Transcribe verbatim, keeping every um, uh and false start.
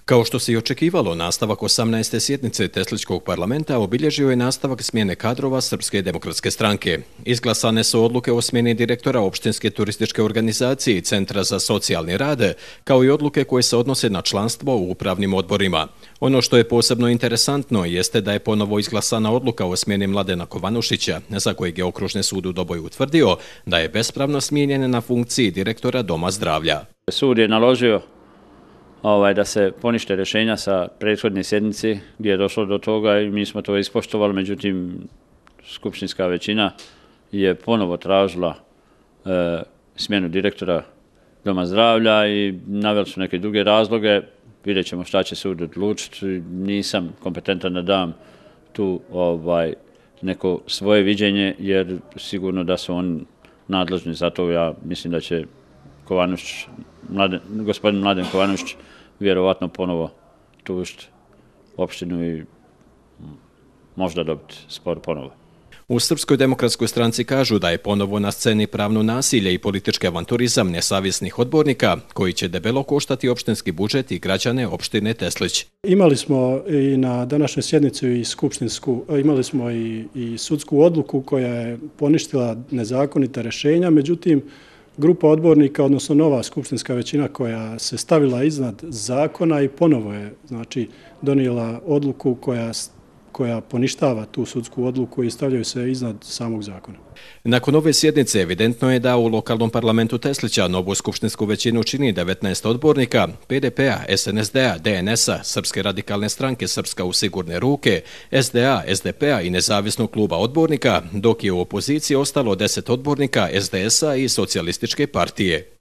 Kao što se i očekivalo, nastavak osamnaeste sjednice Tesličkog parlamenta obilježio je nastavak smjene kadrova Srpske demokratske stranke. Izglasane su odluke o smjeni direktora Opštinske turističke organizacije i Centra za socijalni rad, kao i odluke koje se odnose na članstvo u upravnim odborima. Ono što je posebno interesantno jeste da je ponovo izglasana odluka o smjeni Mladena Kovanušića, za kojeg je Okružni sud u Doboju utvrdio da je bespravno smijenjen na funkciji direktora Doma zdravlja. Sud je naložio Ovaj, da se ponište rješenja sa prethodne sjednice gdje je došlo do toga i mi smo to ispoštovali, međutim skupštinska većina je ponovo tražila e, smjenu direktora Doma zdravlja i naveli su neke druge razloge. Vidjet ćemo šta će sud odlučiti. Nisam kompetentan da dam tu ovaj, neko svoje viđenje jer sigurno da su oni nadležni za to. Ja mislim da će Kovanušić, Mladen, gospodin Mladen Kovanušić vjerovatno ponovo tužiti opštinu i možda dobiti spor ponovo. U Srpskoj demokratskoj stranci kažu da je ponovo na sceni pravno nasilje i politički avanturizam nesavjesnih odbornika koji će debelo koštati opštinski budžet i građane opštine Teslić. Imali smo i na današnjoj sjednici i skupštinsku, imali smo i, i sudsku odluku koja je poništila nezakonita rješenja, međutim grupa odbornika, odnosno nova skupštinska većina koja se stavila iznad zakona i ponovo je znači, donijela odluku koja, koja poništava tu sudsku odluku i stavljaju se iznad samog zakona. Nakon ove sjednice evidentno je da u lokalnom parlamentu Teslića novu skupštinsku većinu čini devetnaest odbornika P D P-a, S N S D-a, D N S-a, Srpske radikalne stranke Srpska u sigurne ruke, S D A, S D P-a i nezavisnog kluba odbornika, dok je u opoziciji ostalo deset odbornika S D S-a i Socijalističke partije.